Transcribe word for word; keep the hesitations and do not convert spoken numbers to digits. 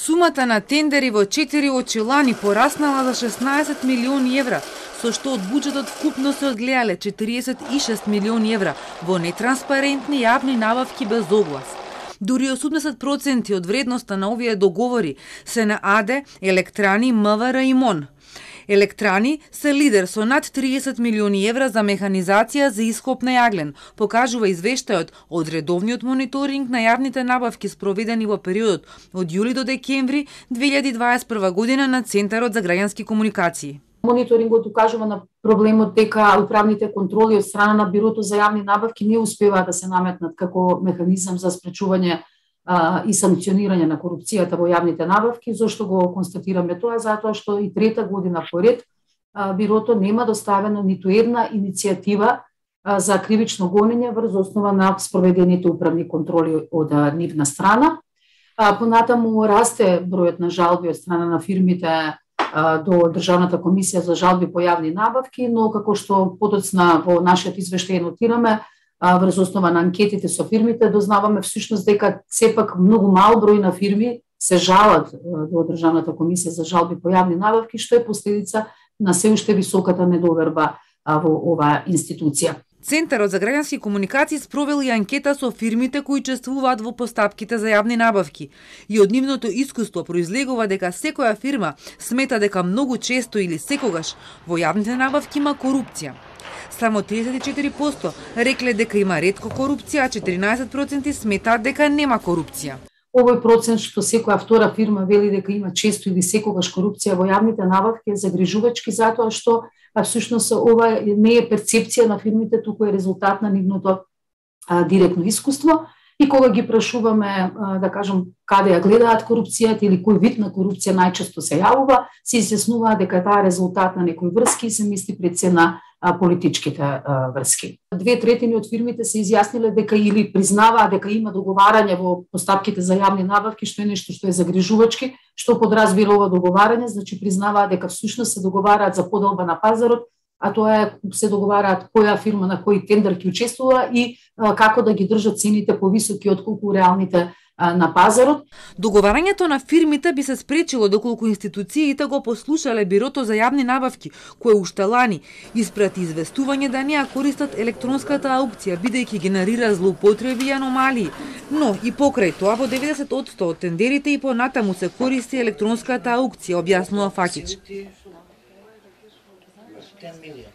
Сумата на тендери во четири очи лани пораснала за шеснаесет милиони евра, со што од буџетот вкупно се одгледале четириесет и шест милиони евра во нетранспарентни јавни набавки без оглас. Дури осумдесет проценти од вредноста на овие договори се на АД, Електрани, МВР и МОН. Електрани се лидер со над триесет милиони евра за механизација за ископ на јаглен, покажува извештајот од редовниот мониторинг на јавните набавки спроведени во периодот од јули до декември две илјади дваесет и прва година на Центарот за граѓански комуникации. Мониторингот укажува на проблемот дека управните контроли од страна на Бирото за јавни набавки не успеваат да се наметнат како механизам за спречување а, и санкционирање на корупцијата во јавните набавки. Зошто го констатираме тоа? Затоа што и трета година поред а, Бирото нема доставено ниту една иницијатива а, за кривично гонење врз основа на спроведените управни контроли од а, нивна страна. А, понатаму расте бројот на жалби од страна на фирмите до Државната комисија за жалби по јавни набавки, но како што подоцна во нашиот извештај нотираме, врз основа на анкетите со фирмите, дознаваме всушност дека сепак многу мал број на фирми се жалат до Државната комисија за жалби по јавни набавки, што е последица на се уште високата недоверба во оваа институција. Центарот за граѓански комуникации спровел и анкета со фирмите кои учествуваат во постапките за јавни набавки. И од нивното искуство произлегува дека секоја фирма смета дека многу често или секогаш во јавните набавки има корупција. Само триесет и четири проценти рекле дека има ретко корупција, а четиринаесет проценти сметаат дека нема корупција. Овој процент што секоја втора фирма вели дека има често или секогаш корупција во јавните набавки е загрижувачки, затоа што а всушност ова не е перцепција на фирмите, туку е резултат на нивното а, директно искуство. И кога ги прашуваме, а, да кажем, каде ја гледаат корупцијата или кој вид на корупција најчесто се јавува, се изјаснува дека таа е резултат на некои врски и се мисли пред се на а, политичките а, врски. Две третини од фирмите се изјасниле дека или признаваат дека има договарање во постапките за јавни набавки, што е нешто што е загрижувачки, што подразбира ова договарање, значи признаваат дека всушност се договараат за поделба на пазарот, а тоа е се договараат која фирма на кој тендер ќе учествува и а, како да ги држат цените повисоки отколку реалните а, на пазарот. Договарањето на фирмите би се спречило доколку институциите го послушале Бирото за јавни набавки, кое уште лани испрати известување да не ја користат електронската аукција, бидејќи генерира злоупотреби и аномалии. Но и покрај тоа во деветдесет одсто од тендерите и понатаму се користи електронската аукција, објаснува Факич. ten million.